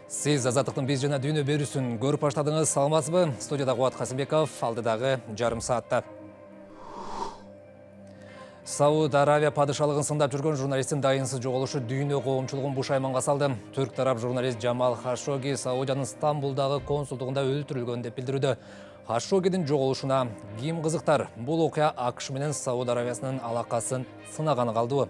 Сиз Азаттыктын биз жана дүйнө берүүсүн көрүп баштадыңыз, саламатсызбы? Студияда Кубат Касымбеков, алдыдагы жарым саатта. Сауд Аравия падышалыгын сындап жүргөн журналисттин дайынсыз жоголушу дүйнө коомчулугун бушайманга салды. Түрк тарап журналист Жамал Хашоги Саудиянын Стамбулдагы консулдугунда өлтүрүлгөн деп билдирүүдө. Хашогидин жоголушуна ким кызыктар? Бул окуя АКШ менен Сауд Аравиясынын алакасын сынаганы калдыбы?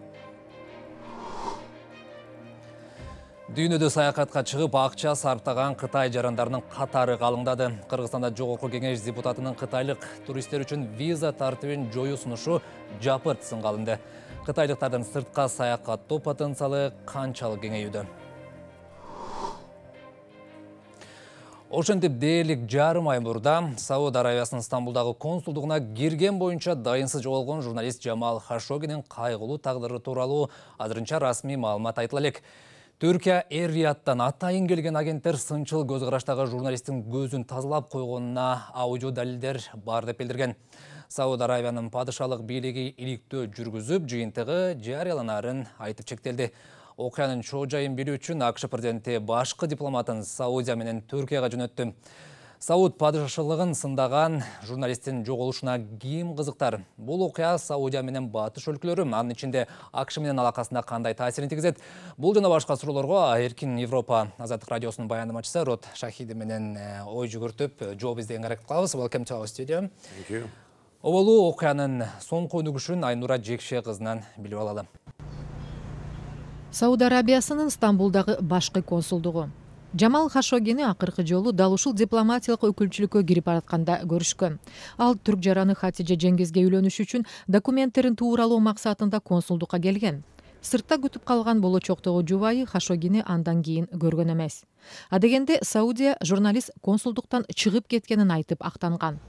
Дүйнөдө саякатка чыгып акча сарптаган Кытай жарандарынын катары калыңдады. Кыргызстанда Жогорку Кеңеш депутатынын кытайлык туристтер үчүн виза тартибин жоюу сунушу жапырт сынга алынды. Кытайлыктардын сыртка саякаттоо потенциалы канчалык кеңейүүдө? Ошентип дээрлик жарым ай мурда Сауд Аравиясынын Стамбулдагы консулдугуна кирген боюнча дайынсыз жоголгон журналист Жамал Хашогинин кайгылуу тагдыры тууралуу азырынча расмий маалымат айтыла элек. Түркия Эр-Рияттан атайын келген агенттер сынчыл көз караштагы журналисттин көзүн тазалап койгонуна аудио далилдер бар деп билдирген. Сауд Аравиянын падышалык бийлиги иликтөө жүргүзүп, жыйынтыгы жарыяланарын айтып чектелди. Окуянын чоо жайын билүү үчүн АКШ президенти башкы дипломатын Саудия менен Түркияга жөнөттү. Сауд падышалыгын сындаган журналисттин жоголушуна ким кызыктар? Бул окуя Саудия менен батыш өлкөлөрү, анын ичинде АКШ менен алакасында кандай таасирин тийгизет? Бул жана башка суроолорго Эркин Европа Азаттык радиосунун баяндамачысы Рот Шахиди менен ой жүгүртүп жооп издегенге аракет кылабыз. Welcome to our studio. Thank you. Оболу окуянын соңку өнүгүшүн Айнура Жекше кызынан билип алалы. Сауд Арабиясынын Стамбулдагы башкы консулдугу. Жамал Хашогини акыркы жолу дал ушул дипломатиялык өкүлчүлүккө кирип баратканда көрүшкөн. Ал түрк жараны Хатижа Жеңгизге үйлөнүш үчүн документтерин тууралоо максатында консулдукка келген. Сыртта күтүп калган болочоктогу жубайы Хашогини андан кийин көргөн эмес. Адегенде Саудия журналист консулдуктан чыгып кеткенин айтып актанган.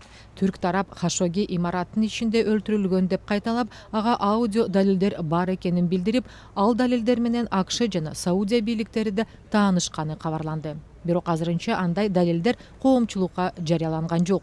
Түрк тарап Хашоги имараттын ичинде өлтүрүлгөн деп кайталап, ага аудио далилдер бар экенин билдирип, ал далилдер менен АКШ жана Саудия бийликтери да таанышканы кабарланды. Бирок азырынча андай далилдер коомчулукка жарыяланган жок.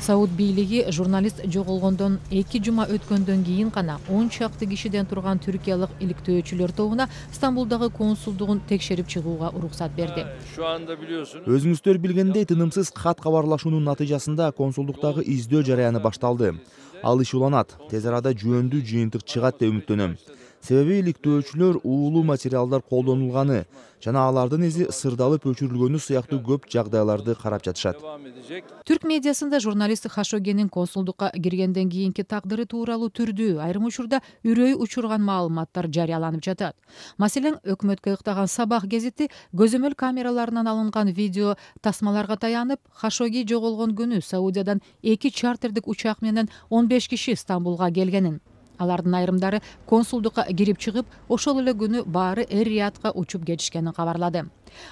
Сауд бийлиги журналист жоголгондон 2 жума өткөндөн кийин гана 10 чакты кишиден турган түркиялык иликтөөчүлөр тобуна Стамбулдагы консулдугун текшерип чыгууга уруксат берди. Өзүңүздөр билгендей, тынымсыз кат кабарлашуунун натыйжасында консулдуктагы издөө жараяны башталды. Ал иш уланат, тез арада жөнүндүү жыйынтык чыгат деп үмүттөнөм. Себеби иликтөөчүлөр уулуу материалдар колдонулганы жана алардын изи сырдалып өчүрүлгөнү сыяктуу көп жагдайларды карап жатышат. Түрк медиасында журналист Хашогинин консулдукка киргенден кийинки тагдыры тууралуу түрдүү, айрым учурда үрөй учурган маалыматтар жарыяланып жатат. Маселен, өкмөткө ыктаган Сабах гезити көзөмөл камераларынан алынган видео тасмаларга таянып, Хашоги жоголгон күнү Саудиядан 2 чартердик учак менен 15 киши Стамбулга келгенин. Алардын айрымдары консулдукка кирип чыгып, ошол эле күнү баары Эр-Риядка учуп кетишкенин кабарлады.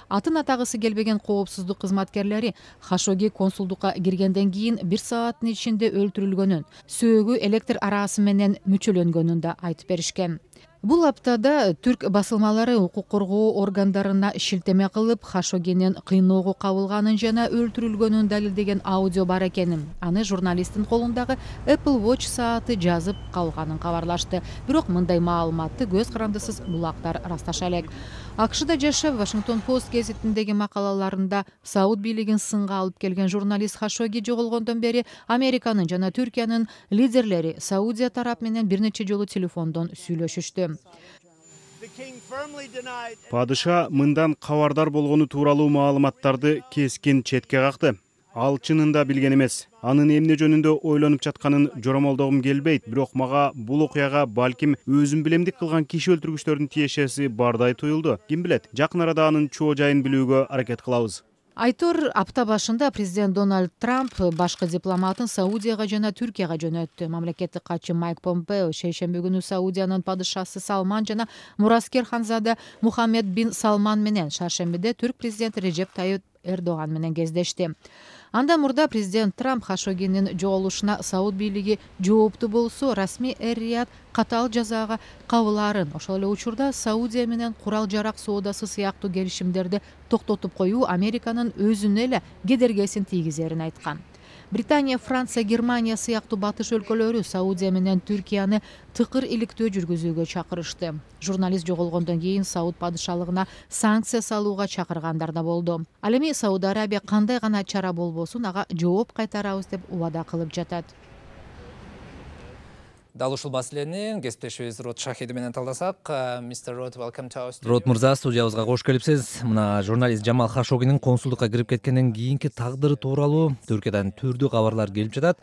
Атын атагысы келбеген коопсуздук кызматкерлери Хашоги консулдукка киргенден кийин 1 сааттын ичинде өлтүрүлгөнүн, сөөгү электр арасы менен мүчөлөнгөнүн да айтып беришкен. Бул аптада түрк басылмалары укук коргоо органдарына шилтеме кылып, Хашогинин кыйноого кабылганын жана өлтүрүлгөнүн далилдеген аудио бар экенин, аны журналисттин колундагы Apple Watch сааты жазып калганын кабарлашты. Бирок мындай маалыматты көз карандысыз булактар расташа элек. АКШда жашап, Washington Post гезитиндеги макалаларында Сауд бийлигин сынга алып келген журналист Хашоги жоголгондон бери Американын жана Түркиянын лидерлери Саудия тарап менен бир нече жолу телефондон сүйлөшүштү. Падыша мындан кабардар болгону тууралуу маалыматтарды кескин четке какты. Ал чынында билген эмес. Анын эмне жөнүндө ойлонуп жатканын жоромолдогум келбейт, бирок мага бул окуяга балким өзүм билемдик кылган киши өлтүргүчтөрдүн тиешеси бардай туюлду. Ким билет, жакын арада анын чоо жайын билүүгө аракет кылабыз. Айтор апта башында президент Дональд Трамп башкы дипломатын Саудияга жана Түркияга жөнөттү. Мамлекеттик катчы Майк Помпео шейшемби күнү Саудиянын падышасы Салман жана мураскер ханзада Мухаммед бин Салман менен шаршембиде түрк президенти Режеп Тайып Эрдоган менен кездешти. Андан мурда президент Трамп Хашогинин жоголушуна Сауд бийлиги жооптуу болсо, расмий Эр-Рияд катаал жазаага кабылаарын, ошол эле учурда Саудия менен курал жарак соодасы сыяктуу келишимдерди токтотуп коюу Американын өзүнө эле кедергесин тийгизерин айткан. Британия, Франция, Германия сыяктуу батыш өлкөлөрү Саудия менен Түркияны тыкыр иликтөө жүргүзүүгө чакырышты. Журналист жоголгондон кийин Сауд падышалыгына санкция салууга чакыргандар да болду. Ал эми Сауд Арабия кандай гана чара болбосун ага жооп кайтарабыз деп убада кылып жатат. Дал ушул маселени кесиптешибиз Рот Шахиди менен талдасак. Мистер Рот, welcome to our studio. Рот мырза, студиябызга кош келипсиз. Мына журналист Жамал Хашогинин консулдукка кирип кеткенден кийинки тагдыры тууралуу Түркиядан түрдүү кабарлар келип жатат.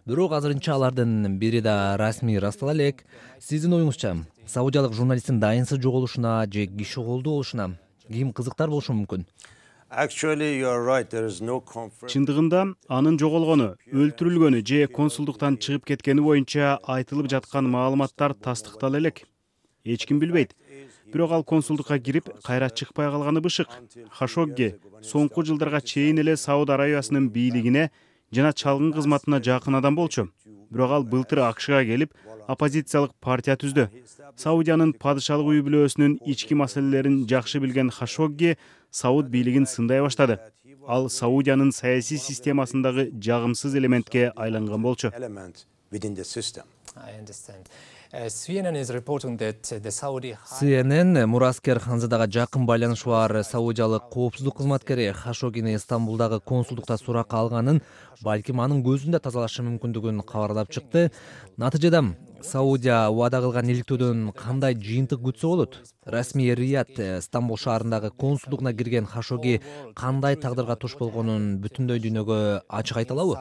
Бирок азырынча алардын бири да расмий ырастала элек. Сиздин оюңузча, саудиялык журналисттин дайынсыз жоголушуна же киши колдоо болушуна ким кызыктар болушу мүмкүн? Чындыгында анын жоголгону, өлтүрүлгөнү же консулдуктан чыгып кеткени боюнча айтылып жаткан маалыматтар тастыктала элек. Эч ким билбейт. Бирок ал консулдукка кирип, кайра чыкпай калганы бышык. Хашогги соңку жылдарга чейин эле Сауд Арабиясынын бийлигине жана чалгын кызматына жакын адам болчу. Бирок ал былтыр АКШга келип, оппозициялык партия түздү. Саудиянын падышалык үй бүлөсүнүн ички маселелерин жакшы билген Хашогги Сауд бийлигин сындай баштады. Ал Саудиянын саясий системасындагы жагымсыз элементке айланган болчу. CNN Мураскер Ханзадага жакын байланышы бар саудиялык коопсуздук кызматкери Хашогини Стамбулдагы консулдукта суракка алганын, балким анын көзүндө тазалашы мүмкүндүгүн кабарлап чыкты. Натыйжада Саудия убада кылган иликтөөдөн кандай жыйынтык күтсө болот? Расмий Рияд Стамбул шаарындагы консулдугуна кирген Хашоги кандай тагдырга туш болгонун бүтүндөй дүйнөгө ачык айта алабы?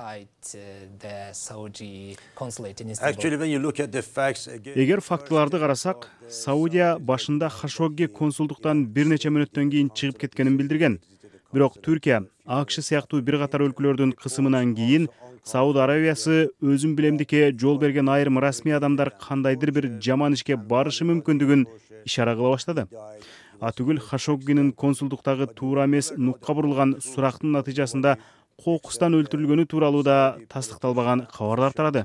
Эгер фактыларды карасак, Саудия башында Хашогги консулдуктан бир нече мүнөттөн кийин чыгып кеткенин билдирген. Бирок Түркия, АКШ сыяктуу бир катар өлкөлөрдүн кысымынан кийин Сауд Арабиясы өзүн билемдикке жол берген айрым расмий адамдар кандайдыр бир жаман ишке барышы мүмкүндүгүн ишара кыла баштады. Атүгүл Хашоггинин консулдуктагы туура эмес нукка бурулган сурактын натыйжасында кокустан өлтүрүлгөнү тууралуу да тастыкталбаган кабарлар тарады.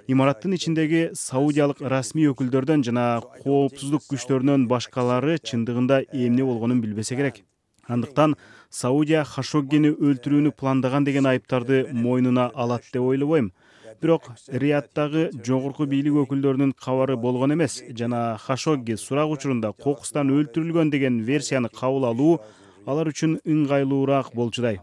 Имараттын ичиндеги саудиялык расмий өкүлдөрдөн жана коопсуздук күчтөрүнөн башкалары чындыгында эмне болгонун билбесе керек. Андыктан Саудия Хашоггини өлтүрүүнү пландаган деген айыптарды мойнуна алат деп ойлобойм. Бирок Рияддагы жогорку бийлик өкүлдөрүнүн кабары болгон эмес жана Хашогги сурак учурунда кокустан өлтүрүлгөн деген версияны кабыл алуу алар үчүн ыңгайлуураак болчудай.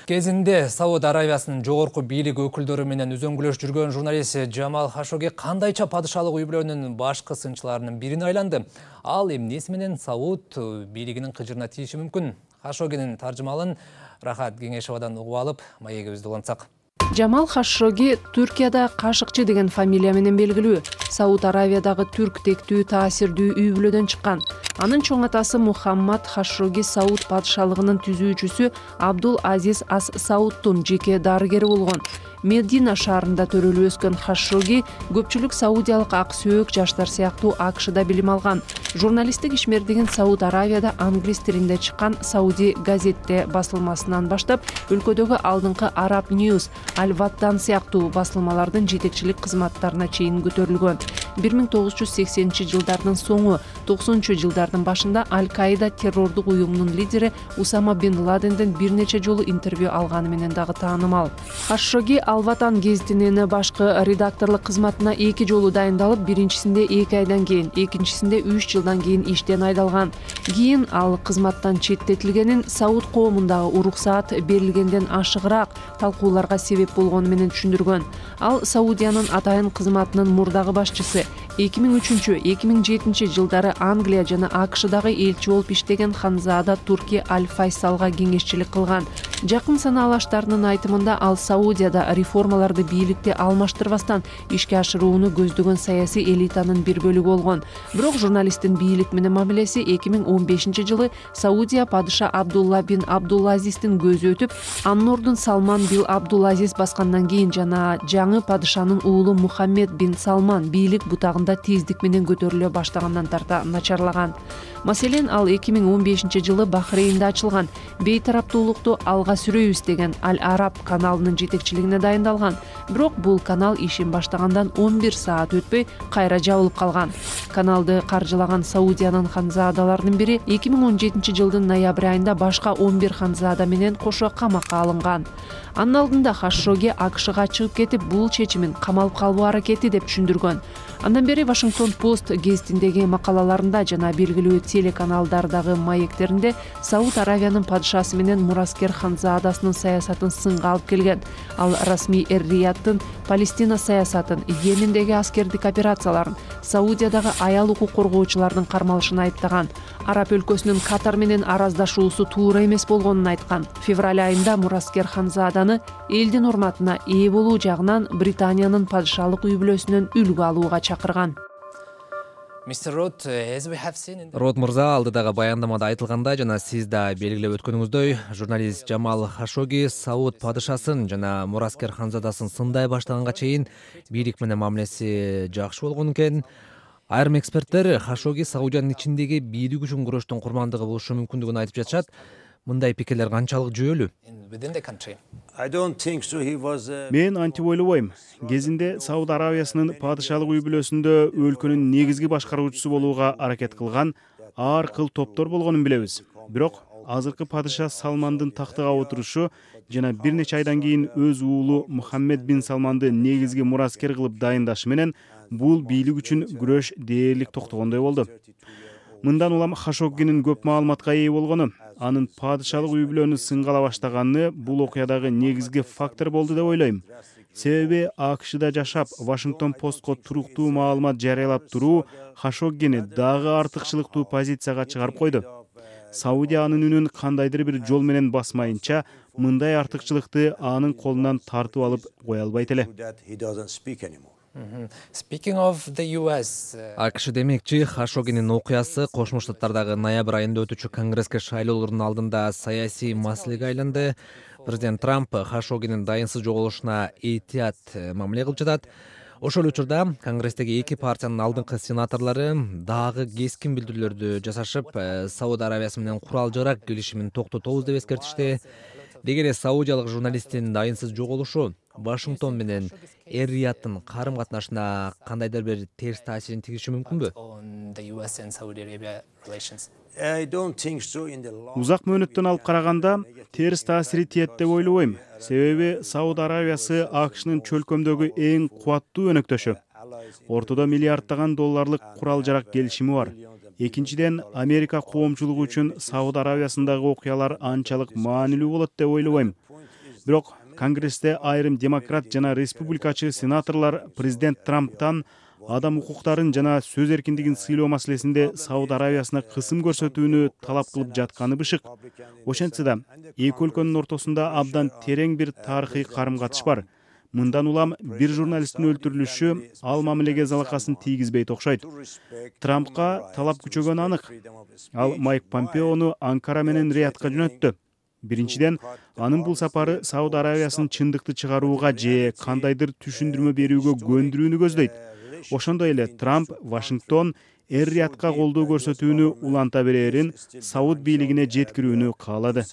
Кезинде Сауд Арабиясынын жогорку бийлик өкүлдөрү менен үзөңгүлөш жүргөн журналист Жамал Хашоги кандайча падышалык үй бүлөнүн башкы сынчыларынын бирине айланды. Ал эмнеси менен Сауд бийлигинин кыжырына тийиши мүмкүн? Хашогинин таржымалын Рахат Кеңешовадан угуп алып, маегибизди улантсак. Жамал Хашоги Түркияда Кашыкчы деген фамилия менен белгилүү. Сауд Арабиядагы түрк тектүү таасирдүү үй бүлөдөн чыккан. Анын чоң атасы Мухаммад Хашоги Сауд падышалыгынын түзүүчүсү Абдул Азиз Ас Саудтун жеке дарыгери болгон. Медина шаарында төрөлүп өскөн Хашоги көпчүлүк саудиялык ак сөөк жаштар сыяктуу АКШда билим алган. Журналисттик ишмердигин Сауд Арабияда англис тилинде чыккан Сауди газетте басылмасынан баштап, өлкөдөгү алдыңкы Arab News, Al-Watan сыяктуу басылмалардын жетекчилик кызматтарына чейин көтөрүлгөн. 1980-жылдардын соңу, 90-жылдардын башында Аль-Каида террордук уюмунун лидери Усама бин Ладенден бир нече жолу интервью алганы менен дагы таанымал. Хашоги Al-Watan гезитинин башкы редакторлук кызматына 2 жолу дайындалып, биринчисинде 2 айдан кийин, экинчисинде 3 жылдан кийин иштен айдалган. Кийин ал кызматтан четтетилгенин Сауд коомундагы уруксаат берилгенден ашыгыраак талкууларга себеп болгону менен түшүндүргөн. Ал Саудиянын атайын кызматынын мурдагы башчысы. 2003-2007 жылдары Англия жана АКШдагы элчи болуп иштеген Ханзада Турки Аль-Файсалга кеңешчилик кылган. Жакын санаалаштарынын айтымында ал Саудияда реформаларды бийликте алмаштырбастан ишке ашырууну көздөгөн саясий элитанын бир бөлүгү болгон. Бирок журналисттин бийлик менен мамилеси 2015-жылы Саудия падыша Абдулла бин Абдулазиздин көзү өтүп, анын ордун Салман бин Абдулазиз баскандан кийин жана жаңы падышанын уулу Мухаммед бин Салман бийлик бутагына аймагында тездик менен көтөрүлө баштагандан тарта начарлаган. Маселен, ал 2015-жылы Бахрейнде ачылган бейтараптуулукту алга сүрөйбүз деген Аль-Араб каналынын жетекчилигине дайындалган. Бирок бул канал ишин баштагандан 11 саат өтпөй кайра жабылып калган. Каналды каржылаган Саудиянын ханзаадаларынын бири 2017-жылдын ноябрь айында башка 11 ханзаада менен кошо камакка алынган. Анын алдында Хашогги АКШга чыгып кетип, бул чечимин камалып калуу аракети деп түшүндүргөн. Андан бери Вашингтон Пост гезитиндеги макалаларында жана белгилүү телеканалдардагы маектеринде Сауд Аравиянын падышасы менен Мураскер ханзаадасынын саясатын сынга алып келген. Ал расмий Эр-Рияттын Палестина саясатын, Йемендеги аскердик операцияларын, Саудиядагы аял укук коргоочулардын кармалышын айыптаган. Араб өлкөсүнүн Катар менен араздашуусу туура эмес болгонун айткан. Февраль айында Мураскер ханзааданы элдин урматына ээ болуу жагынан Британиянын падышалык үй бүлөсүнөн үлгү алууга чакырган. Рот мырза, алдыдагы баяндамада айтылгандай жана сиз да белгилеп өткөнүңүздөй, журналист Жамал Хашогги Сауд падышасын жана Мураскер ханзадасын сындай баштаганга чейин бийлик менен мамилеси жакшы болгон экен. Айрым эксперттер Хашогги Саудиянын ичиндеги бийлик үчүн күрөштүн курмандыгы болушу мүмкүндүгүн айтып жатышат. Мындай пикирлер канчалык жүйөлүү? Мен антип ойлобойм. Кезинде Сауд Аравиясынын падышалык үй бүлөсүндө өлкөнүн негизги башкаруучусу болууга аракет кылган ар кыл топтор болгонун билебиз. Бирок азыркы падыша Салмандын тактыга отурушу жана бир нече айдан кийин өз уулу Мухаммед бин Салманды негизги мураскер кылып дайындашы менен бул бийлик үчүн күрөш дээрлик токтогондой болду. Мындан улам Хашоггинин көп маалыматка ээ болгону, анын падышалык үй бүлөнү сынгала баштаганы бул окуядагы негизги фактор болду деп ойлойм. Себеби АКШда жашап, Вашингтон Постко туруктуу маалымат жарыялап туруу Хашоггини дагы артыкчылыктуу позицияга чыгарып койду. Саудия анын үнүн кандайдыр бир жол менен басмайынча, мындай артыкчылыкты анын колунан тартып алып кое албайт эле. АКШ демекчи, Хашоггинин окуясы Кошмо Штаттардагы ноябрь айында өтүүчү конгресске шайлоолордун алдында саясий маселеге айланды. Президент Трамп Хашоггинин дайынсыз жоголушуна этият мамиле кылып жатат. Ошол учурда конгресстеги эки партиянын алдыңкы сенаторлору дагы кескин билдирүүлөрдү жасашып, Сауд Аравиясы менен курал-жарак келишимин токтотобуз деп эскертишти. Деги эле саудиялык журналисттин дайынсыз жоголушу Вашингтон менен Эр-Рияттын карым-катнашына кандайдыр бир терс таасирин тийгизиши мүмкүнбү? Узак мөөнөттөн алып караганда терс таасири тиет деп ойлобойм. Себеби Сауд Аравиясы АКШнын чөлкөмдөгү эң кубаттуу өнөктөшү. Ортодо миллиарддаган долларлык курал-жарак келишими бар. Экинчиден, Америка коомчулугу үчүн Сауд Аравиясындагы окуялар анчалык маанилүү болот деп ойлобойм. Бирок Конгрессте айрым демократ жана республикачы сенаторлор президент Трамптан адам укуктарын жана сөз эркиндигин сыйлоо маселесинде Сауд Аравиясына кысым көрсөтүүнү талап кылып жатканы бышык. Ошентсе да, эки өлкөнүн ортосунда абдан терең бир тарыхый карым-катыш бар. Мындан улам бир журналисттин өлтүрүлүшү ал мамилеге залакасын тийгизбейт окшойт. Трампка талап күчөгөнү анык. Ал Майк Помпеону Анкара менен Риядка жөнөттү. Биринчиден, анын бул сапары Сауд Аравиясын чындыкты чыгарууга же кандайдыр түшүндүрмө берүүгө көндүрүүнү көздөйт. Ошондой эле Трамп Вашингтон Эр-Риядка колдоо көрсөтүүнү уланта берерин Сауд бийлигине жеткирүүнү каалады.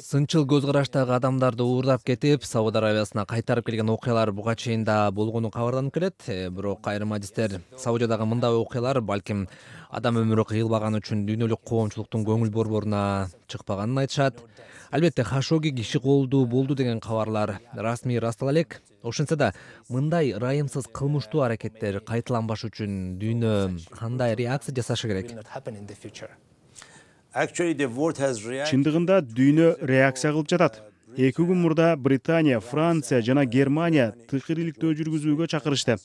Сынчыл көз караштагы адамдарды уурдап кетип, Сауд Аравиясына кайтарып келген окуялар буга чейин да болгону кабарланып келет. Бирок айрым адистер Саудиядагы мындай окуялар балким адам өмүрү кыйылбаганы үчүн дүйнөлүк коомчулуктун көңүл борборуна чыкпаганын айтышат. Албетте Хашогги киши колдуу болду деген кабарлар расмий ырастала элек. Ошентсе да, мындай ырайымсыз кылмыштуу аракеттер кайталанбаш үчүн дүйнө кандай реакция жасашы керек? Чындыгында дүйнө реакция кылып жатат. 2 күн мурда Британия, Франция жана Германия тыкыр иликтөө жүргүзүүгө чакырышты.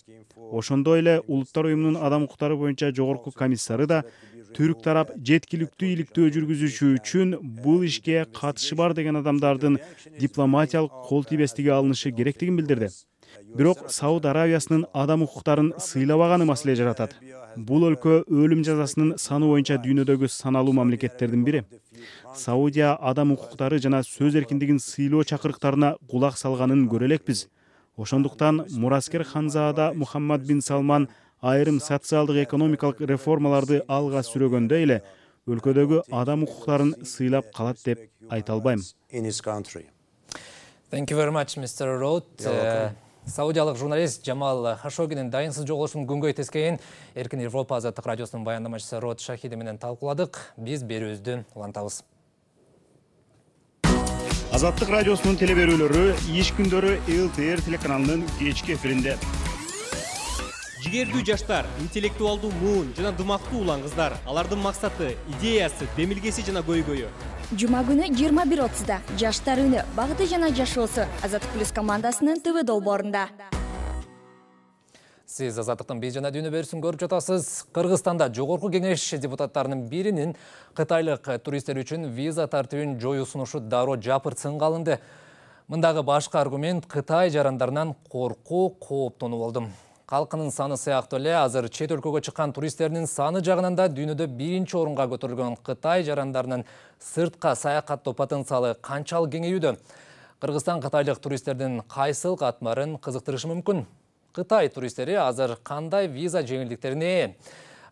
Ошондой эле Улуттар уюмунун адам укуктары боюнча жогорку комиссары да түрк тарап жеткиликтүү иликтөө жүргүзүшү үчүн бул ишке катышы бар деген адамдардын дипломатиялык кол тийбестиги алынышы керектигин билдирди. Бирок Сауд Аравиясынын адам укуктарын сыйлабаганы маселе жаратат. Бул өлкө өлүм жазасынын саны боюнча дүйнөдөгү саналуу мамлекеттердин бири. Саудия адам укуктары жана сөз эркиндигин сыйлоо чакырыктарына кулак салганын көрө элекпиз. Ошондуктан мураскер ханзаада Мухаммад бин Салман айрым социалдык экономикалык реформаларды алга сүрөгөндө эле өлкөдөгү адам укуктарын сыйлап калат деп айта албайм. Thank you very much, Mr. Roth. Саудиялык журналист Джамал Хашогинин дайынсыз жоголушун күнгөй тескейин Эркин Европа азаттык радиосунун баяндамачысы Рот Шахиди менен талкууладык. Биз берүүбүздү улантабыз. Азаттык радиосунун телеберүүлөрү иш күндөрү ЛТР телеканалынын кечки эфиринде. Жигердүү жаштар, интеллектуалдуу муун жана дымактуу улан кыздар. Алардын максаты, идеясы, демилгеси жана көйгөйү. Жума күнү 21:30да жаштар үні багыты жана жашоосу Азаттык плюс командасынын ТВ долбоорунда. Сиз Азаттыктын биз жана дүйнө берүүсүн көрүп жатасыз. Кыргызстанда жогорку кеңеш депутаттарынын биринин кытайлык туристтер үчүн виза тартибин жоюу сунушу дароо жапыртсынга алынды. Мындагы башкы аргумент Кытай жарандарынан коркуу, кооптонуу болду. Калкынын саны сыяктуу эле азыр чет өлкөгө чыккан туристтердин саны жагынан да дүйнөдө биринчи орунга көтөрүлгөн Кытай жарандарынын сыртка саякаттоо потенциалы канчалык кеңейүүдө? Кыргызстан кытайлык туристтердин кайсыл катмарын кызыктырышы мүмкүн? Кытай туристтери азыр кандай виза жеңилдиктерине ээ?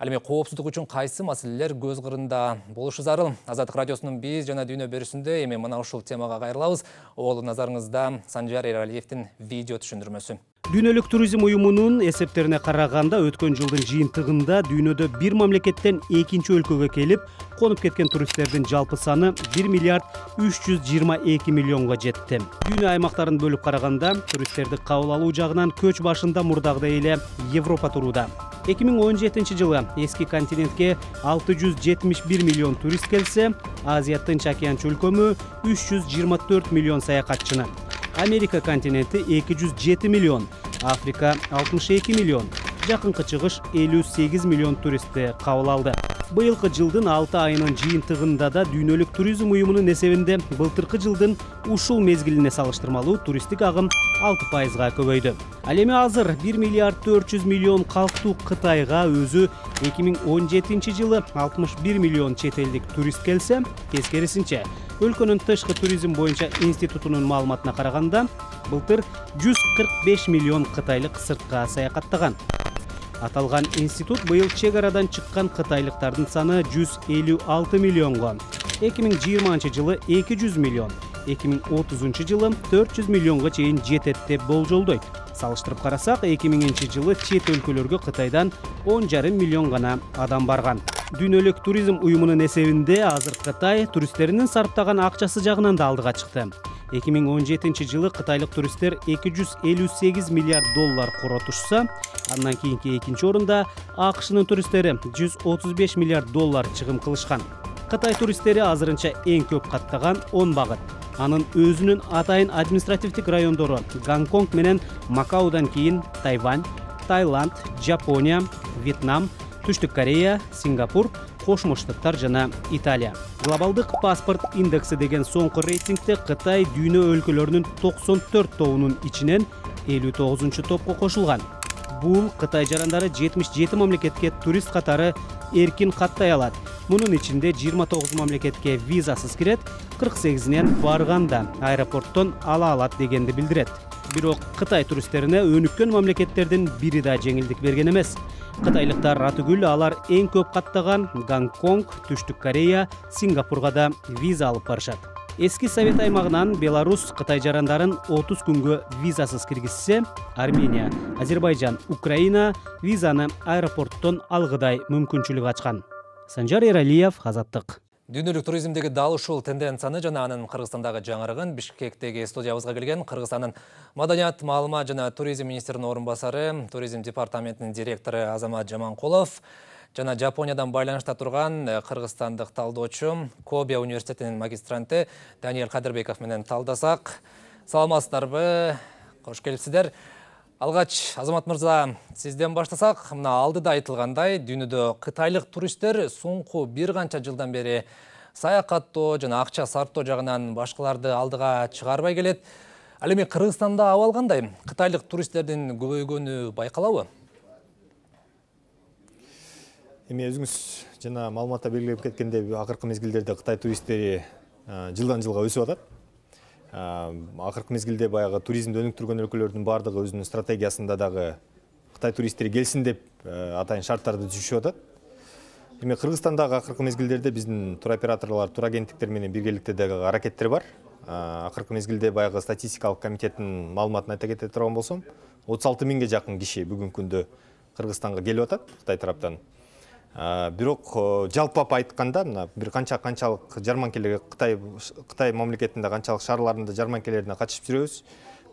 Ал эми коопсуздук үчүн кайсы маселелер көз кырында болушу зарыл? Азаттык радиосунун биз жана дүйнө берүүсүндө эми мына ушул темага кайрылабыз. Ол назарыңызда Санжар Эралиевдин видео түшүндүрмөсү. Дүйнөлүк туризм уюмунун эсептерине караганда өткөн жылдын жыйынтыгында дүйнөдө бир мамлекеттен экинчи өлкөгө келип конуп кеткен туристтердин жалпы саны 1 миллиард 322 миллионго жетти. Дүйнө аймактарын бөлүп караганда туристтерди кабыл алуу жагынан көч башында мурдагыдай эле Европа турууда. 2017 жылы эски континентке 671 миллион турист келсе, Азия Тынч океан чөлкөмү 324 миллион саякатчыны. Америка континенти 207 миллион, Африка 62 миллион, Жакынкы Чыгыш 58 миллион туристти кабыл алды. Быйылкы жылдын 6 айынын жыйынтыгында да дүйнөлүк туризм уюмунун эсебинде былтыркы жылдын ушул мезгилине салыштырмалуу туристтик агым 6%га көбөйдү. Ал эми азыр 1 миллиард 400 миллион калктуу Кытайга өзү 2017 жылы 61 миллион чет элдик турист келсе, тескерисинче өлкөнүн тышкы туризм боюнча институтунун маалыматына караганда, былтыр 145 миллион кытайлык сыртка саякаттаган. Аталган институт быйыл чек арадан чыккан кытайлыктардын саны 156 миллионго, 2020 жылы 200 миллион, 2030 жылы 400 миллионго чейин жетет деп болжолдойт. Салыштырып карасак, 2000 жылы чет өлкөлөргө Кытайдан 10,5 миллион гана адам барган. Дүйнөлүк туризм уюмунун эсебинде азыр Кытай туристтеринин сарптаган акчасы жагынан да алдыга чыкты. 2017 жылы кытайлык туристтер 258 миллиард доллар коротушса, андан кийинки экинчи орунда АКШнын туристтери 135 миллиард доллар чыгым кылышкан. Кытай туристтери азырынча эң көп каттаган 10 багыт. Анын өзүнүн атайын административдик райондору Гонконг менен Макаудан кийин Тайвань, Таиланд, Жапония, Вьетнам, Түштүк Корея, Сингапур, Кошмо Штаттар жана Италия. Глобалдык паспорт индекси деген соңку рейтингде Кытай дүйнө өлкөлөрүнүн 94 тобунун ичинен 59 топко кошулган. Бул Кытай жарандары 77 мамлекетке турист катары эркин каттай алат. Мунун ичинде 29 мамлекетке визасыз кирет, 48-нен барганда аэропорттон ала алат дегенди билдирет. Бирок Кытай туристтерине өнүккөн мамлекеттердин бири да жеңилдик берген эмес. Кытайлыктар ратыгүл алар эң көп каттаган Гонконг, Түштүк Корея, Сингапурга да виза алып барышат. Эски Совет аймагынан Беларусь Кытай жарандарын 30 күнгө визасыз киргизсе, Армения, Азербайжан, Украина визаны аэропорттон алгыдай мүмкүнчүлүк ачкан. Санжар Эралиев, Азаттык. Дүйнөлүк туризмдеги дал ушул тенденцияны жана анын Кыргызстандагы жаңырыгын Бишкектеги студиябызга келген Кыргызстандын Маданият, маалымат жана туризм министринин орун басары, туризм департаментинин директору Азамат Жаманкулов жана Жапониядан байланышта турган кыргызстандык талдоочу, Кобе университетинин магистранты Даниэль Кадырбеков менен талдасак. Саламатсыздарбы? Кош келипсиздер. Алгач, Азамат мырза, сизден баштасак, мына алдыда айтылгандай, дүйнөдө кытайлык туристтер соңку бир канча жылдан бери саякаттоо жана акча сарптоо жагынан башкаларды алдыга чыгарбай келет. Ал эми Кыргызстанда абал кандай? Кытайлык туристтердин көбөйгөнү байкалабы? Эми өзүңүз жана маалыматта белгилеп кеткендей, акыркы мезгилдерде Кытай туристтери жылдан жылга өсүп атат. Акыркы мезгилде баягы туризмди өнүктүргөн өлкөлөрдүн баардыгы өзүнүн стратегиясында дагы Кытай туристтери келсин деп атайын шарттарды түзүшүп атат. Эми Кыргызстандагы акыркы мезгилдерде биздин туроператорлор, турагенттиктер менен биргеликте дагы аракеттер бар. Акыркы мезгилде баягы статистикалык комитеттин маалыматын айта кете турган болсом, 36 миңге жакын киши бүгүнкү күндө Кыргызстанга келип атат Кытай тараптан. Бирок жалпап айтканда, мына бир канчалык жарманкелерге Кытай мамлекетинде канчалык шаарларында жарманкелерине катышып жүрөбүз.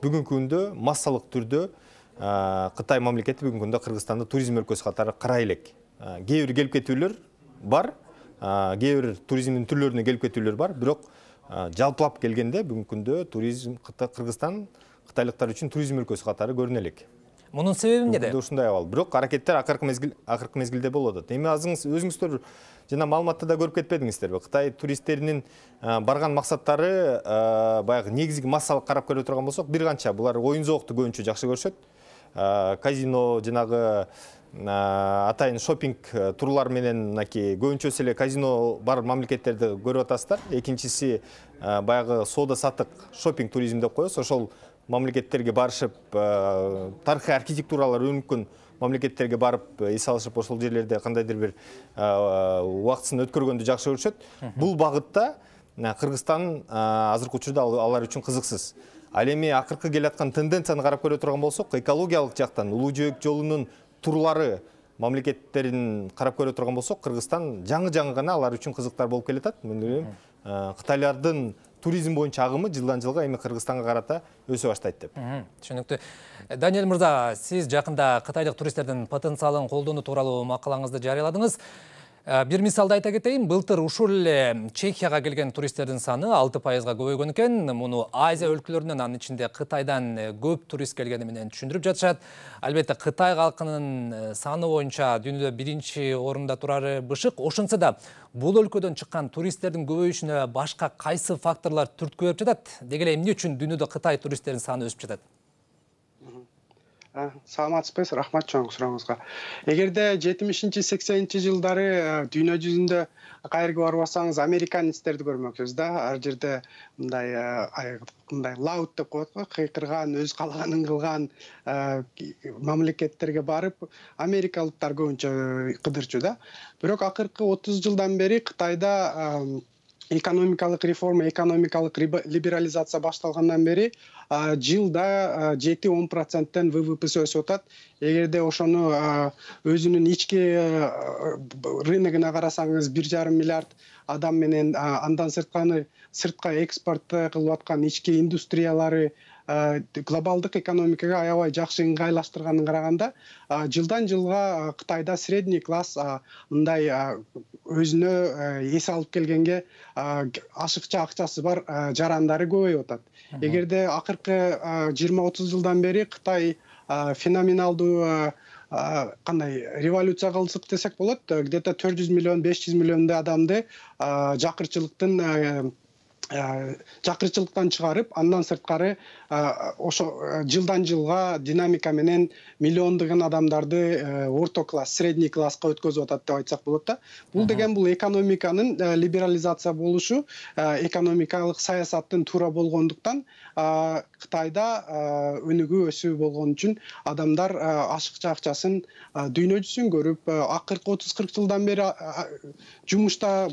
Бүгүнкү күндө массалык түрдө Кытай мамлекети бүгүнкү күндө Кыргызстанды туризм өлкөсү катары карай элек. Кээ бир келип кетүүлөр бар, кээ бир туризмдин түрлөрүнө келип кетүүлөр бар, бирок жалпылап келгенде бүгүнкү күндө туризм Кыргызстан кытайлыктар үчүн туризм өлкөсү катары көрүнө элек. Мунун себеби эмнеде? Ушундай абал. Бирок аракеттер акыркы мезгилде болуп атат. Эми өзүңүздөр жана маалыматта да көрүп кетпедиңиздерби? Кытай туристтеринин барган максаттары баягы негизги массалык карап көрө турган болсок, бир канча булар оюн зоокту көбүнчө жакшы көрүшөт. Казино, жанагы атайын шопинг турлар менен мынакей көбүнчөсү эле казино бар мамлекеттерди көрүп атасыздар. Экинчиси баягы соода саттык шопинг туризм деп коебуз. Ошол мамлекеттерге барышып, тарыхый архитектуралар өнүккөн мамлекеттерге барып, эс алышып, ошол жерлерде кандайдыр бир убактысын өткөргөндү жакшы көрүшөт. Бул багытта Кыргызстан азыркы учурда алар үчүн кызыксыз. Ал эми акыркы келаткан тенденцияны карап көрө турган болсок, экологиялык жактан Улуу жөөк жолунун турлары мамлекеттерин карап көрө турган болсок, Кыргызстан жаңы гана алар үчүн кызыктар болуп келатат. Мен ойлойм, кытайлардын туризм боюнча агымы жылдан жылга эми Кыргызстанга карата өсө баштайт деп. Түшүнүктүү. Даниэль мырза, сиз жакында кытайлык туристтердин потенциалын колдонуу тууралуу макалаңызды жарыяладыңыз. Бир мисалды айта кетейин, былтыр ушул эле Чехияга келген туристтердин саны 6%га көбөйгөн экен. Муну Азия өлкөлөрүнөн, анын ичинде Кытайдан көп турист келгени менен түшүндүрүп жатышат. Албетте Кытай калкынын саны боюнча дүйнөдө биринчи орунда турары бышык. Ошонсо да бул өлкөдөн чыккан туристтердин көбөйүшүнө башка кайсы факторлор түрткү берип жатат? Деги эле эмне үчүн дүйнөдө Кытай туристтердин саны өсүп жатат? Саламатсызбы, рахмат чоң сурооңузга. Эгерде 70-80 жылдары дүйнө жүзүндө кайерге барбасаңыз американецтерди көрмөксүз да. Ар жерде мындай лаут деп коет го, кыйкырган, өз каалаганын кылган мамлекеттерге барып, америкалыктар көбүнчө кыдырчу да. Бирок акыркы 30 жылдан бери Кытайда экономикалык реформа, экономикалык либерализация башталгандан бери жылда 7-10%тен ВВПсы өсүп атат. Эгерде ошону өзүнүн ички рыногуна карасаңыз, 1,5 миллиард адам менен андан сыртка экспорт кылып аткан ички индустриялары глобалдык экономикага аябай жакшы ыңгайлаштырганын караганда, жылдан жылга Кытайда средний класс мындай өзүнө эс алып келгенге ашыкча акчасы бар жарандары көбөйүп атат. Эгерде акыркы 20-30 жылдан бери Кытай феноменалдуу кандай революция кылдык десек болот, где-то 400 миллион, 500 миллиондой адамды жакырчылыктан чыгарып, андан сырткары ошо жылдан жылга динамика менен миллиондогон адамдарды орто класс, средний класска өткөзүп атат деп айтсак болот да. Бул деген бул экономиканын либерализация болушу, экономикалык саясаттын туура болгондуктан Кытайда өнүгүү өсүү болгон үчүн адамдар ашыкча акчасын дүйнө жүзүн көрүп, акыркы 30-40 жылдан бери жумушта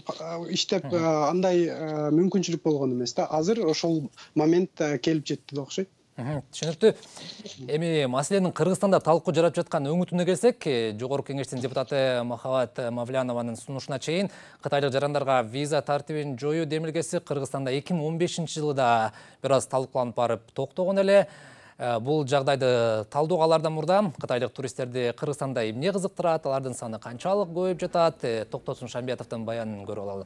иштеп андай мүмкүнчүлүк болгон эмес да. Азыр ошол момент келип жетти деп окшойт. Түшүнүктүү. Эми маселенин Кыргызстанда талкуу жарап жаткан өңүтүнө келсек, Жогорку Кеңештин депутаты Махабат Мавлянованын сунушуна чейин кытайлык жарандарга виза тартибин жоюу демилгеси Кыргызстанда 2015-жылда бир аз талкууланып барып токтогон эле. Бул жагдайды талдоого алардан мурда кытайлык туристтерди Кыргызстанда эмне кызыктырат, алардын саны канчалык көбөйүп жатат? Токтосун Шамбиятовдун баянын көрүп алалы.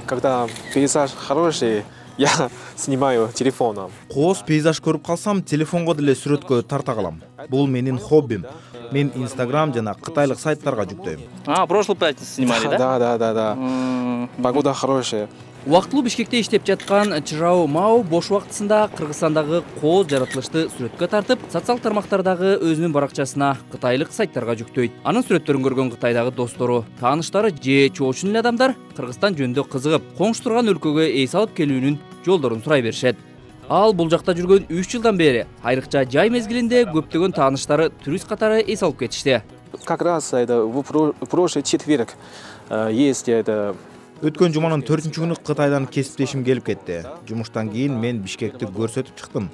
Когда пейзаж хороший, я снимаю телефоном. Кооз пейзаж көрүп калсам, телефонго деле сүрөткө тарта калам. Бул менин хоббим. Мен Instagram жана кытайлык сайттарга жүктөйм. Прошлую пятницу снимали, да? Да. Погода хорошая. Убактылуу Бишкекте иштеп жаткан Чжао Мао бош убактысында Кыргызстандагы кооз жаратылышты сүрөткө тартып, социалдык тармактардагы өзүнүн баракчасына кытайлык сайттарга жүктөйт. Анын сүрөттөрүн көргөн Кытайдагы достору, тааныштары же чоочун эле адамдар Кыргызстан жөнүндө кызыгып, коңшу турган өлкөгө эс алып келүүнүн жолдорун сурай беришет. Ал бул жакта жүргөн 3 жылдан бери айрыкча жай мезгилинде көптөгөн тааныштары турист катары эс алып кетишти. Как раз это в прошлый четверг есть это. Өткөн жуманын 4-күнү Кытайдан кесиптешим келип кетти. Жумуштан кийин мен Бишкекти көрсөтүп чыктым.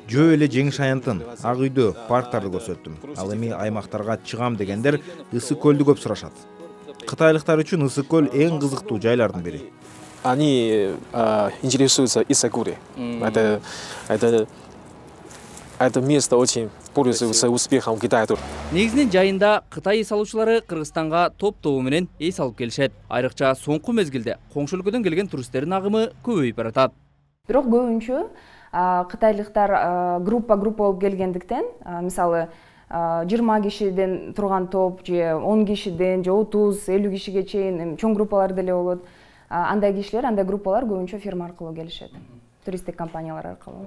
Жөө эле жеңиш аянтын, ак үйдө, парктарды көрсөттүм. Ал эми аймактарга чыгам дегендер Ысык көлдү көп сурашат. Кытайлыктар үчүн Ысык көл эң кызыктуу жайлардын бири. Они интересуются Исакури. Это место очень пользуется успехом в Китае. Негизинен жайында Кытай эс алуучулары Кыргызстанга топ-тобу менен эс алып келишет. Айрыкча соңку мезгилде коңшу өлкөдөн келген туристтердин агымы көбөйүп баратат. Бирок көбүнчө кытайлыктар группа болуп келгендиктен, мисалы 20 кишиден турган топ же 10 кишиден же 30-50 кишиге чейин чоң группалар деле болот. Андай кишилер, андай группалар көбүнчө фирма аркылуу келишет. Туристтик компаниялар аркылуу.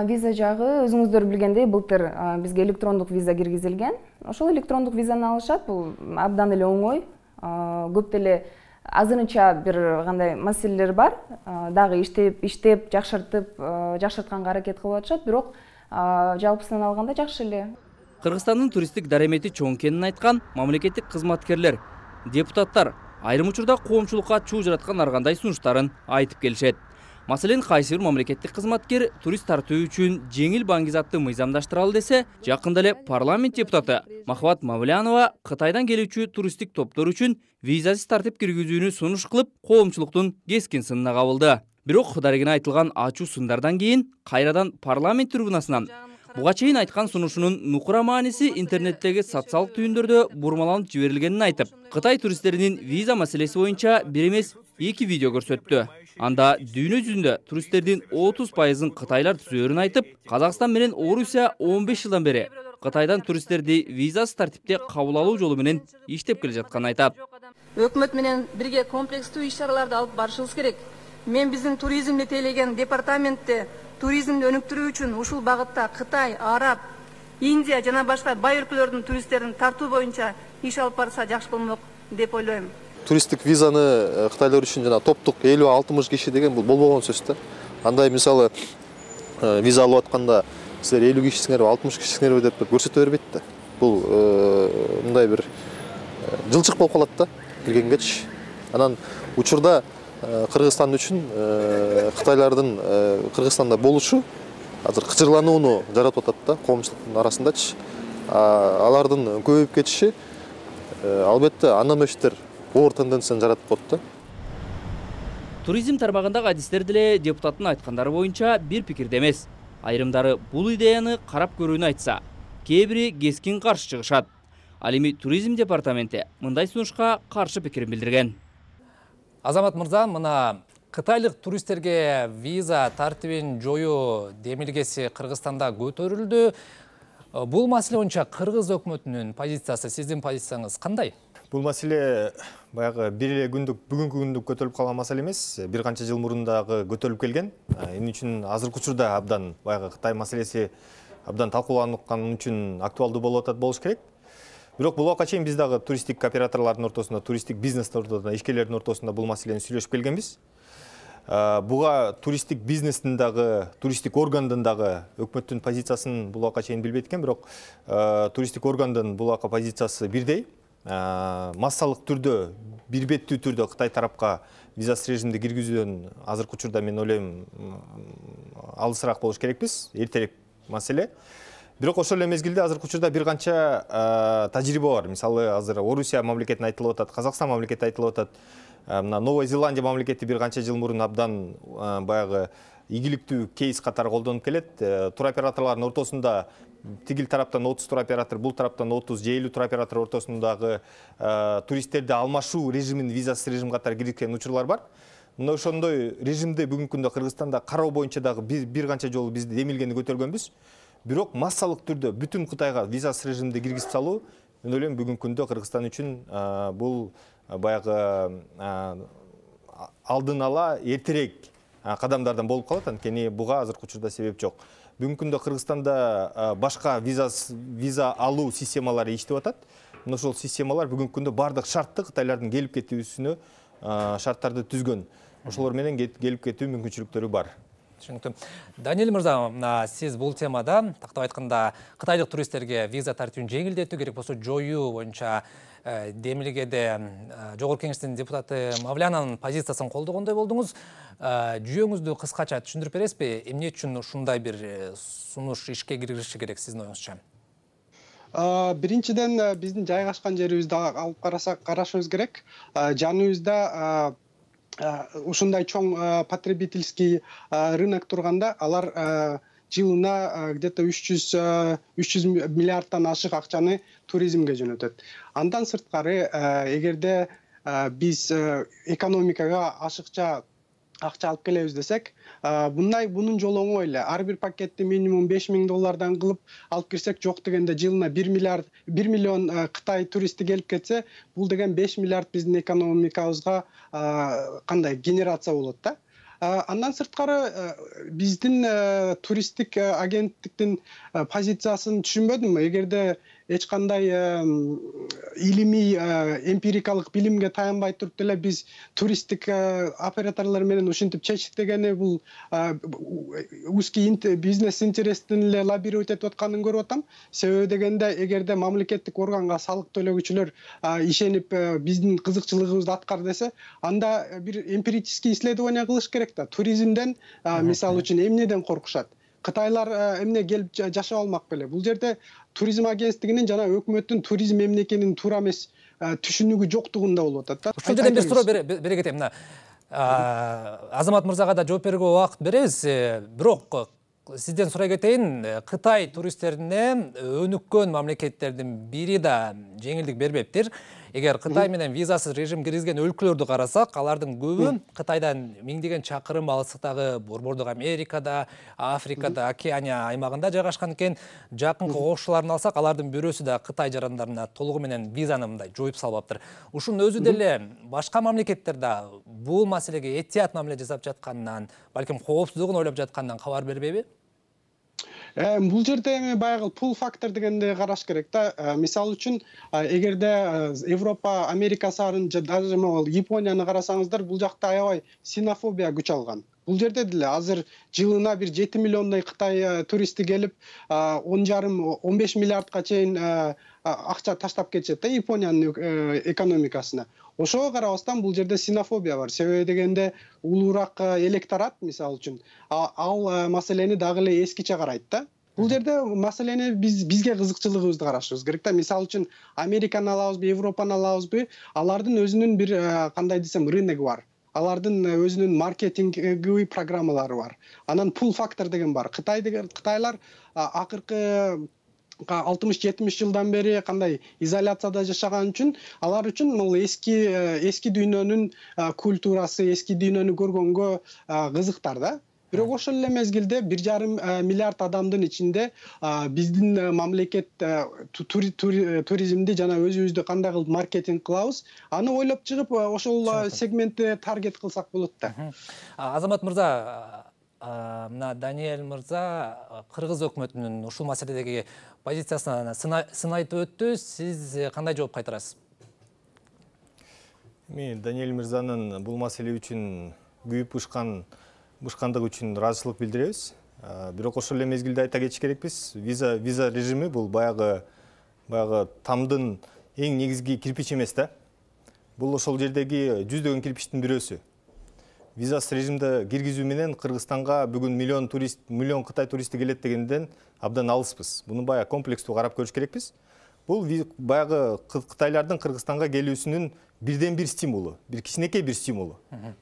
Виза жагы өзүңүздөр билгендей былтыр бизге электрондук виза киргизилген. Ошол электрондук визаны алышат, бул абдан эле оңой. Көп деле азырынча бир кандай маселелер бар. Дагы иштеп, жакшыртканга аракет кылып атышат, бирок жалпысынан алганда жакшы эле. Кыргызстандын туристтик даремети чоң экенин айткан мамлекеттик кызматкерлер, депутаттар айрым учурда коомчулукка чуу жараткан ар кандай сунуштарын айтып келишет. Маселен, кайсы бир мамлекеттик кызматкер турист тартуу үчүн жеңил баңгизатты мыйзамдаштыралы десе, жакында эле парламент депутаты Махват Мавлянова Кытайдан келүүчү туристтик топтор үчүн визасыз тартип киргизүүнү сунуш кылып, коомчулуктун кескин сынына кабылды. Бирок дарегине айтылган ачуу сындардан кийин кайрадан парламент трибунасынан буга чейин айткан сунушунун нукура мааниси интернеттеги социалдык түйүндөрдө бурмаланып жиберилгенин айтып, Кытай туристтеринин виза маселеси боюнча бир эмес 2 видео көрсөттү. Анда дүйнө жүзүндө туристтердин 30%-ын кытайлар түзөөрүн айтып, Казакстан менен Орусия 15 жылдан бери Кытайдан туристтерди визасыз тартипте кабыл алуу жолу менен иштеп келе жатканын айтат. Өкмөт менен бирге комплекстүү иш-чараларды алып барышыбыз керек. Мен биздин туризмди тейлеген департаментте туризмди өнүктүрүү үчүн ушул багытта Кытай, Араб, Индия жана башка бай өлкөлөрдүн туристтерин тартуу боюнча иш алып барса жакшы болмок деп ойлойм. Туристтик визаны кытайлар үчүн жана топтук 50-60 киши деген бул болбогон сөз да. Андай мисалы виза алып атканда силер 50 кишисиңерби, 60 кишисиңерби деп көрсөтө бербейт да. Бул мындай бир жылчык болуп калат да киргенгечи. Анан учурда Кыргызстан үчүн кытайлардын Кыргызстанда болушу азыр кычырланууну жаратып атат да коомчулуктун арасындачы. Алардын көбөйүп кетиши албетте анамештер оор тенденцияны жаратып коет да. Туризм тармагындагы адистер деле депутаттын айткандары боюнча бир пикирде эмес. Айрымдары бул идеяны карап көрүүнү айтса, кээ бири кескин каршы чыгышат. Ал эми туризм департаменти мындай сунушка каршы пикирин билдирген. Азамат мырза, мына кытайлык туристтерге виза тартибин жоюу демилгеси Кыргызстанда көтөрүлдү. Бул маселе боюнча кыргыз өкмөтүнүн позициясы, сиздин позицияңыз кандай? Бул маселе баягы бир эле күндүк, бүгүнкү күндүк көтөрүлүп калган маселе эмес. Бир канча жыл мурун дагы көтөрүлүп келген. Эмне үчүн азыркы учурда абдан баягы Кытай маселеси абдан талкууланып үчүн актуалдуу болуп атат болуш керек. Бирок бул убакка чейин биз дагы туристтик операторлордун ортосунда, туристтик бизнестин ортосунда, ишкерлердин ортосунда бул маселени сүйлөшүп келгенбиз. Буга туристтик бизнестин дагы, туристтик органдын дагы өкмөттүн позициясын бул убакка чейин билбейт экен, бирок туристтик органдын бул убакка позициясы бирдей. Массалык түрдө, бир беттүү түрдө Кытай тарапка визасыз режимди киргизүүдөн азыркы учурда мен ойлойм алысыраак болуш керекпиз, эртерээк маселе. Бирок ошол эле мезгилде азыркы учурда бир канча тажрыйба бар. Мисалы, азыр Орусия мамлекети айтылып атат, Казакстан мамлекети айтылып атат. Мына Новая Зеландия мамлекети бир канча жыл мурун абдан баягы ийгиликтүү кейс катары колдонуп келет. Туроператорлордун ортосунда тигил тараптан 30 туроператор, бул тараптан 30 же 50 туроператор ортосундагы туристтерди алмашуу режимин визасыз режим катары киргизген учурлар бар. Мына ошондой режимди бүгүнкү күндө Кыргызстанда кароо боюнча дагы бир канча жолу биз демилгени көтөргөнбүз. Бирок массалык түрдө бүтүн Кытайга визасыз режимди киргизип салуу, мен ойлойм бүгүнкү күндө Кыргызстан үчүн бул баягы алдын ала эртерээк кадамдардан болуп калат, анткени буга азыркы учурда себеп жок. Бүгүнкү күндө Кыргызстанда башка виза алуу системалары иштеп атат. Ошол системалар бүгүнкү күндө бардык шартты Кытайлардын келип кетүүсүнө шарттарды түзгөн. Ошолор менен келип кетүү мүмкүнчүлүктөрү бар. Түшүнүктүү. Даниэль мырза, сиз бул темада, тактап айтканда, кытайлык туристтерге виза тартүүнү жеңилдетүү керек болсо жоюу боюнча Демилгеде Жогорку Кеңештин депутаты Мавлянанын позициясын колдогондой болдуңуз. Жүйөңүздү кыскача түшүндүрүп бересизби? Эмне үчүн ушундай бир сунуш ишке киргизиши керек сиздин оюңузча? Биринчиден, биздин жайгашкан жерибизди алып карашыбыз керек. Жаныбызда ушундай чоң потребительский рынок турганда, алар жылына где-то 300 миллиардтан ашык акчаны туризмге жөнөтөт. Андан сырткары, эгерде биз экономикага ашыкча акча алып келебиз десек, бунун жолу оңой эле. Ар бир пакетти минимум $5000 кылып алып кирсек, жок дегенде жылына 1 миллион Кытай туристи келип кетсе, бул деген 5 миллиард биздин экономикабызга кандай генерация болот да. Андан сырткары биздин туристтик агенттиктин позициясын түшүнбөдүм. Эгерде эч кандай илимий эмпирикалык билимге таянбай туруп деле биз туристтик операторлор менен ушинтип чечтик дегени бул узкий бизнес интересин эле лоббировать этип атканын көрүп атам. Себеби дегенде, эгерде мамлекеттик органга салык төлөгүчүлөр ишенип биздин кызыкчылыгыбызды аткар десе, анда бир эмпирический исследование кылыш керек да. Туризмден мисалы үчүн эмнеден коркушат? Кытайлар эмне келип жашап алмак беле? Бул жерде туризм агенттигинин жана өкмөттүн туризм эмне экенин туура эмес түшүнүгү жоктугунда болуп атат да. Ушул жерден бир суроо бере кетем. Азамат мырзага да жооп берүүгө убакыт беребиз. Бирок сизден сурай кетейин, Кытай туристтерине өнүккөн мамлекеттердин бири да жеңилдик бербептир. Эгер Кытай менен визасыз режим киргизген өлкөлөрдү карасак, алардын көбү Кытайдан миңдеген чакырым алыстыктагы Борбордук Америкада, Африкада, Океания аймагында жайгашкан экен. Жакынкы кошуларын алсак, алардын бирөөсү да Кытай жарандарына толугу менен визаны мындай жоюп салбаптыр. Ушунун өзү деле башка мамлекеттерде бул маселеге этият мамиле жасап жатканынан, балким коопсуздугун ойлоп жатканынан кабар бербейби? Бул жерде эми баягы пул фактор дегенди караш керек да. Мисалы үчүн, эгерде Европа, Америка сарын, даже Японияны карасаңыздар, бул жакта аябай синофобия күч алган. Бул жерде деле азыр жылына бир 7 миллиондой Кытай туристи келип, 10,5-15 миллиардка чейин акча таштап кетишет да Япониянын экономикасына. Ошого карабастан бул жерде синофобия бар. Себеби дегенде улуураак электорат, мисалы үчүн, ал маселени дагы эле эскиче карайт да. Бул жерде маселени бизге кызыкчылыгыбызды карашыбыз керек да. Мисалы үчүн, Американы алабызбы, Европаны алабызбы, алардын өзүнүн бир кандай десем рыногу бар. Алардын өзүнүн маркетингдеги программалары бар. Анан пул фактор деген бар. Кытайлар акыркы 60-70 жылдан бери кандай изоляцияда жашаган үчүн, алар үчүн бул эски дүйнөнүн культурасы, эски дүйнөнү көргөнгө кызыктар да. Бирок ошол эле мезгилде 1,5 миллиард адамдын ичинде биздин мамлекет туризмди жана өзүбүздү кандай кылып маркетинг кылабыз, аны ойлоп чыгып, ошол сегментти таргет кылсак болот да. Азамат мырза, мына Даниэль мырза кыргыз өкмөтүнүн ушул маселедеги позициясына сын айтып өттү. Сиз кандай жооп кайтарасыз? Мен Даниэль мырзанын бул маселе үчүн күйүп бушкандыгы үчүн ыраазычылык билдиребиз. Бирок ошол эле мезгилде айта кетиш керекпиз. Виза режими бул баягы тамдын эң негизги кирпич эмес да. Бул ошол жердеги жүздөгөн кирпичтин бирөөсү. Визасыз режимде киргизүү менен Кыргызстанга бүгүн миллион Кытай туристи келет дегенден абдан алыспыз. Буну баягы комплекстүү карап көрүш керекпиз. Бул баягы Кытайлардын Кыргызстанга келүүсүнүн бирден бир стимулу, бир кичинекей бир стимулу.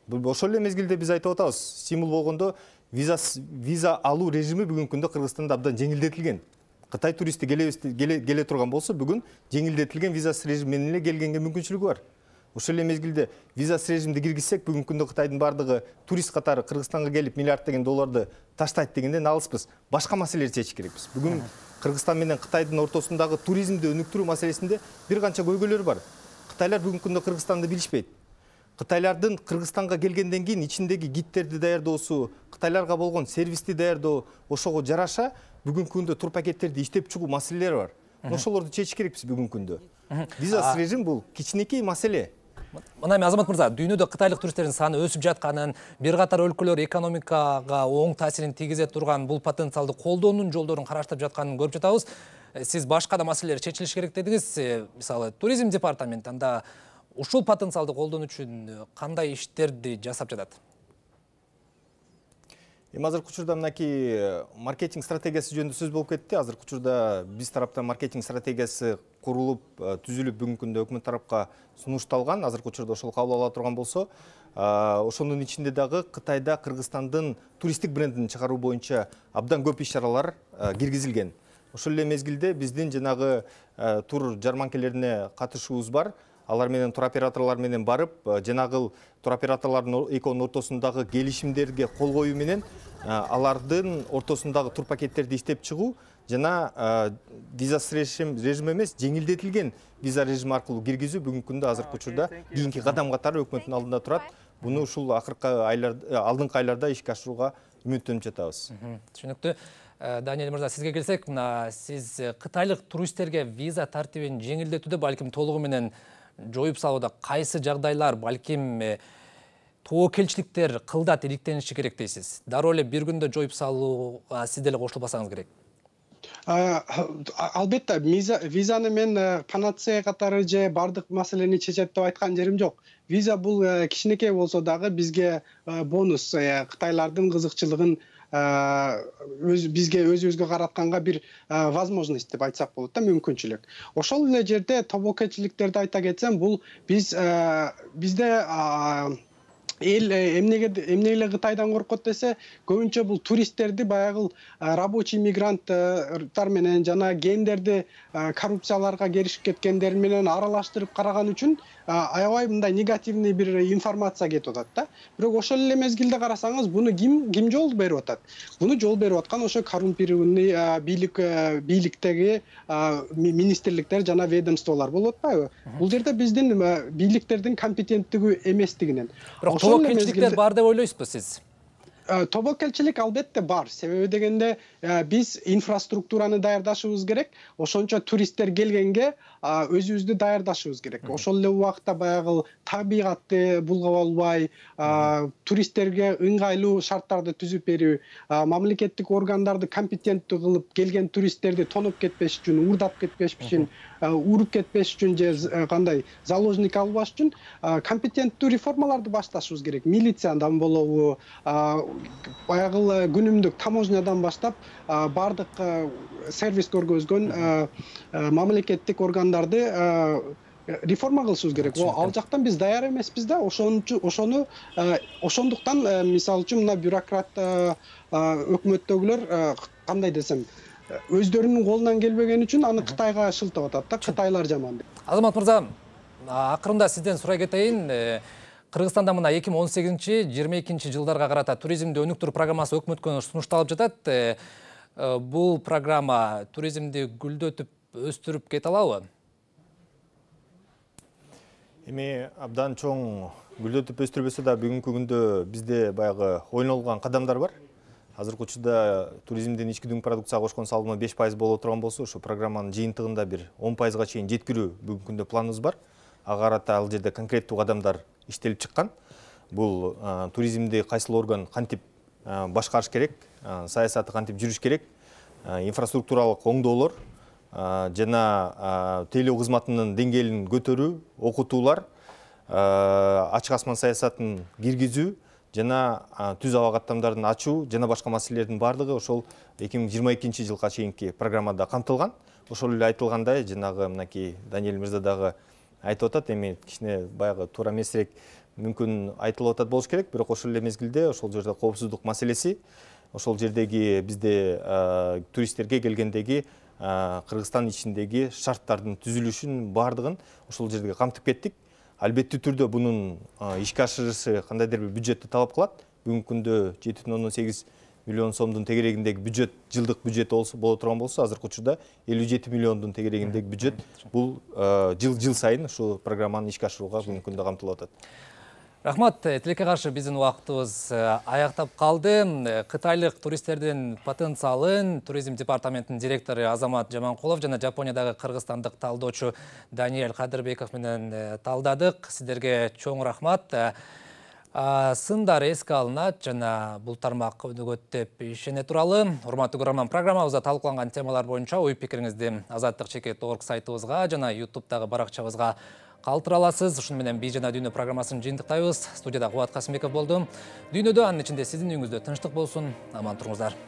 Ошол эле мезгилде биз айтып атабыз, стимул болгондо виза алуу режими бүгүнкү күндө Кыргызстанда абдан жеңилдетилген. Кытай туристи келе турган болсо, бүгүн жеңилдетилген визасыз режим менен эле келгенге мүмкүнчүлүгү бар. Ошол эле мезгилде визасыз режимди киргизсек, бүгүнкү күндө Кытайдын бардыгы турист катары Кыргызстанга келип миллиард деген долларды таштайт дегенден алыспыз. Башка маселелерди чечиш керекпиз. Бүгүн Кыргызстан менен Кытайдын ортосундагы туризмди өнүктүрүү маселесинде бир канча көйгөйлөр бар. Кытайлар бүгүнкү күндө Кыргызстанды билишпейт. Кытайлардын Кыргызстанга келгенден кийин ичиндеги гидтерди даярдоосу, кытайларга болгон сервисти даярдоо ошого жараша бүгүнкү күндө тур пакеттерди иштеп чыгуу маселелери бар. Ошолорду чечиш керекпиз бүгүнкү күндө. Визасыз режим бул кичинекей маселе. Мына Азамат мырза, дүйнөдө кытайлык туристтердин саны өсүп жатканын, бир катар өлкөлөр экономикага оң таасирин тийгизе турган бул потенциалды колдоонун жолдорун караштырып жатканын көрүп жатабыз. Сиз башка да маселелер чечилиш керек дедиңиз. Мисалы, туризм департаменти анда ушул потенциалды колдонуу үчүн кандай иштерди жасап жатат? Азыркы учурда мынакей маркетинг стратегиясы жөнүндө сөз болуп кетти. Азыркы учурда биз тараптан маркетинг стратегиясы курулуп, түзүлүп бүгүнкү күндө өкмөт тарапка сунушталган. Азыркы учурда ошол кабыл ала турган болсо, ошонун ичинде дагы Кытайда Кыргызстандын туристтик брендин чыгаруу боюнча абдан көп иш-чаралар киргизилген. Ошол эле мезгилде биздин жанагы тур жарманкелерине катышуубуз бар. Алар менен туроператорлор менен барып, жанагыл туроператорлордун экөөнүн ортосундагы келишимдерге кол коюу менен алардын ортосундагы тур пакеттерди иштеп чыгуу жана визасыз режим эмес, жеңилдетилген виза режими аркылуу киргизүү бүгүнкү күндө азыркы учурда кийинки кадам катары өкмөттүн алдында турат. Буну ушул алдыңкы айларда ишке ашырууга үмүттөнүп жатабыз. Түшүнүктүү. Даниэль мырза, сизге келсек, мына сиз кытайлык туристтерге виза тартибин жеңилдетүүдө балким толугу менен жоюп салууда кайсы жагдайлар, балким тобокелчиликтер кылдат иликтениши керек дейсиз? Дароо эле бир күндө жоюп салууга сиз деле кошулбасаңыз керек. Албетте, визаны мен панацея катары же бардык маселени чечет деп айткан жерим жок. Виза бул кичинекей болсо дагы бизге бонус, кытайлардын кызыкчылыгын бизге өзүбүзгө каратканга бир возможность деп айтсак болот да, мүмкүнчүлүк. Ошол эле жерде тобокелчиликтерди айта кетсем, бул бизде эл эмнеге эле Кытайдан коркот десе, көбүнчө бул туристтерди баягы рабочий мигранттар менен жана гендерди коррупцияларга керишип кеткендер менен аралаштырып караган үчүн аябай мындай негативный бир информация кетип атат да. Бирок ошол эле мезгилде карасаңыз, буну ким жол берип атат? Буну жол берип аткан ошо коррумпированный бийликтеги министрликтер жана ведомстволор болуп атпайбы? Бул жерде биздин бийликтердин компетенттиги эместигинен. Тобокелчиликтер бар деп ойлойсузбу сиз? Тобокелчилик албетте бар. Себеби дегенде биз инфраструктураны даярдашыбыз керек. Ошончо туристтер келгенге өзүбүздү даярдашыбыз керек. Ошол эле убакта баягы табигатты булгап албай, туристтерге ыңгайлуу шарттарды түзүп берүү, мамлекеттик органдарды компетенттүү кылып келген туристтерди тоноп кетпеш үчүн, уурдап кетпеш үчүн, уруп кетпеш үчүн же кандай заложник албаш үчүн компетенттүү реформаларды башташыбыз керек. Милициядан болобу, баягы күнүмдүк таможнядан баштап бардык сервис көргөзгөн мамлекеттик органдарды реформа кылышыбыз керек. Ал жактан биз даяр эмеспиз да. Ошондуктан мисалы үчүн мына бюрократ өкмөттөгүлөр кандай десем, өздөрүнүн колунан келбеген үчүн аны Кытайга шылтап атат да, кытайлар жаман деп. Азамат мырза, акырында сизден сурай кетейин. Кыргызстанда мына 2018-22 жылдарга карата туризмди өнүктүрүү программасы өкмөткө сунушталып жатат. Бул программа туризмди гүлдөтүп, өстүрүп кете алабы? Эми абдан чоң гүлдөтүп өстүрбөсө да бүгүнкү күндө бизде баягы ойнолгон кадамдар бар. Азыркы учурда туризмдин ички дүң продукцияга кошкон салымы 5% боло турган болсо, ошо программанын жыйынтыгында бир 10%га чейин жеткирүү бүгүнкү күндө планыбыз бар. Ага карата ал жерде конкреттүү кадамдар иштелип чыккан. Бул туризмди кайсыл орган кантип башкарыш керек, саясаты кантип жүрүш керек, инфраструктуралык оңдоолор жана тейлөө кызматынын деңгээлин көтөрүү, окутуулар, ачык асман саясатын киргизүү жана түз аба каттамдарын ачуу жана башка маселелердин бардыгы ошол 2022 жылга чейинки программада камтылган. Ошол эле айтылгандай, жанагы мынакей Даниэль мырза дагы айтып атат, эми кичине баягы туура эмесирээк мүмкүн айтылып атат болуш керек, бирок ошол эле мезгилде ошол жерде коопсуздук маселеси, ошол жердеги бизде туристтерге келгендеги Кыргызстан ичиндеги шарттардын түзүлүшүн бардыгын ошол жерге камтып кеттик. Албеттүү түрдө бунун ишке ашырышы кандайдыр бир бюджетти талап кылат. Бүгүнкү күндө 7,8 миллион сомдун тегерегиндеги бюджет, жылдык бюджет боло турган болсо, азыркы учурда 57 миллиондун тегерегиндеги бюджет бул жыл сайын ушу программаны ишке ашырууга бүгүнкү күндө камтылып атат. Рахмат, тилекке каршы биздин убактыбыз аяктап калды. Кытайлык туристтердин потенциалын туризм департаментинин директору Азамат Жаманкулов жана Жапониядагы кыргызстандык талдоочу Даниэль Кадырбеков менен талдадык. Сиздерге чоң рахмат. Сындар эске алынат жана бул тармак өнүгөт деп ишене туралы. Урматтуу көрөрман, программабызда талкууланган темалар боюнча ой пикириңизди azadtik.org сайтыбызга жана YouTube'дагы баракчабызга калтыра аласыз. Ушуну менен Би жана Дүйнө программасын жыйынтыктайбыз. Студияда Кубат Касымбеков болду. Дүйнөдө, анын ичинде сиздин үйүңүздө тынчтык болсун. Аман туруңуздар.